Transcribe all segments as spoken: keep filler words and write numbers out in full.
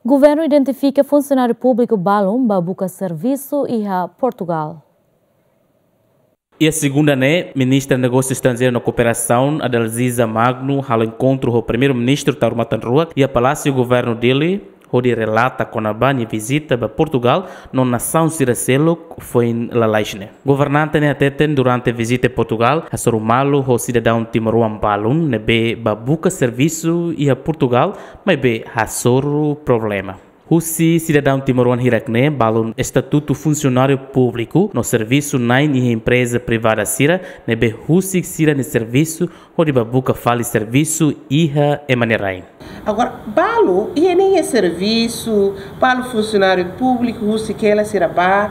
Governu identifika funsionáriu públiku balun ba buka servisu iha Portugal. Iha segunda ne'e, Ministra Negósiu Estranjeiru no Kooperasaun, Adalziza Magno, halo enkontru ho Primeiru-Ministru Taur Matan Ruak iha Palásiu Governu Dili, hodi relata kona-ba nia vizita ba Portugal no nasaun sira seluk foin lalais ne'e. Governante ne'e hateten durante vizita Portugal, hasoru malu ho sidadaun timoroan balun ne'ebé ba buka servisu iha Portugal, maibé hasoru problema. Husi sidadaun timoroan hirak ne'e, balun estatutu funsionáriu públiku no servisu na'in iha empreza privada sira, ne'ebé husik sira-nia servisu hodi ba buka fali servisu iha ema nia rain. Agora, balu, iha ne'e iha servisu, balu funsionáriu públiku, husik hela sira ba,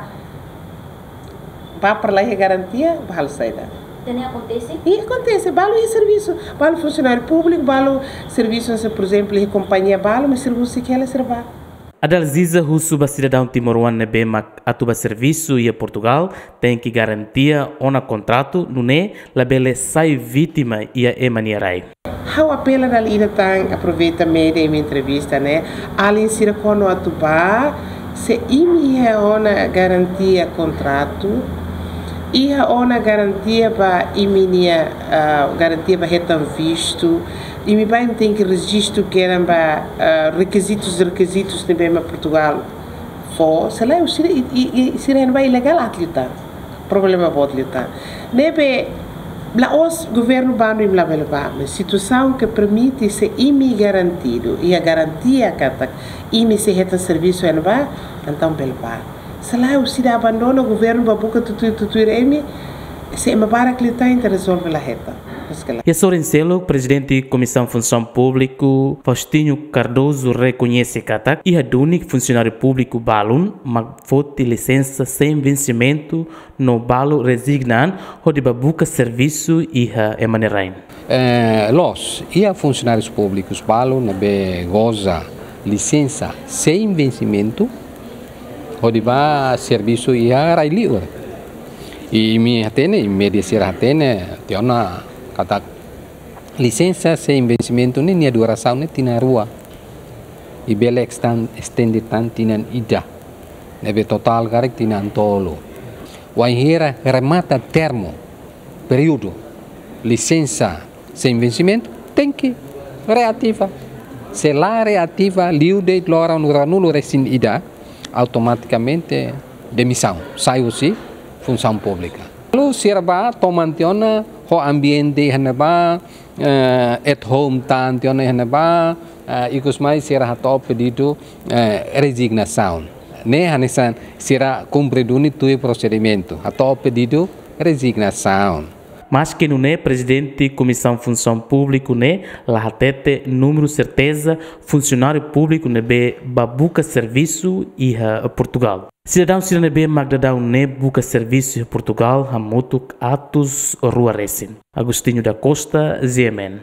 ba para la iha garantia, ba halo saida. Ida-ne'e akontese? I akontese, balu iha servisu, balu funsionáriu públiku, balu servisu, se, por ezemplu, iha kompañia balu, mas sira husik hela sira ba. Adalziza husu ba sidadaun timoroan ne'ebé mak atu ba servisu iha Portugal, tenke garantia ona kontratu, nune'e labele sai vítima iha ema nia rai. Ha'u apela dala ida tan, aproveita média imi entrevista ne'e, alin sira kuandu atu ba, se imi iha ona garantia kontratu, iha ona garantia ba imi-nia, ah, garantia ba hetan vistu, imi ba imi tenke rejistu kedan ba, ah, rekizitus, rekizitus ne'ebé mak Portugal fó, se lae sira i, i, i, sira iha ne'ebá ilegál aat liután. Problema boot liután. Ne'ebé, la'ós governu bandu imi labele ba, mas situasaun ke permite se imi garantidu, iha garantia katak imi sei hetan servisu iha ne'ebá, entaun bele ba. Se lae sira abandona governu ba buka tutuir, tutuir imi, se ema barak liután ita rezolve la hetan. Iha sorin seluk, Prezidente Komisaun Funsaun Públiku, Faustino Cardoso, rekoñese katak iha duni funsionáriu públiku balun mak foti lisensa sein vensimentu no balu rezigna an hodi ba buka servisu iha ema nia rain. Eh, loos, iha funsionárius públikus balun ne'ebé goza lisensa sein vensimentu hodi ba servisu iha rai liur. I imi hatene, i média sira hatene, tiha ona katak lisensa sein vensimentu ne'e nia durasaun ne'e tinan rua. I bele estan-, estende tan tinan ida. Ne'ebé totál karik tinan tolu. Wainhira remata termu, períodu, lisensa sein vensimentu, tenke reativa. Se la reativa, liu de'it loron ruanulu-resin-ida, automatikamente demisaun, sai husi funsaun públika. Lalu sira ba toman tiha ona ho ambiente iha ne'ebá, eh, at home tan tiha ona iha ne'ebá, eh, ikus mai sira hato'o pedidu, eh, rezignasaun. Ne'e hanesan sira kumpre duni tuir prosedimentu, hato'o pedidu rezignasaun. Maske nune'e, Prezidente Komisaun Funsaun Públiku ne'e la hatete númeru serteza funsionáriu públiku ne'ebé ba buka servisu iha Portugal. Sidadaun sira ne'ebé mak daudaun ne'e buka servisu iha Portugal hamutuk atus rua resin. Agostinho da Costa, G M N.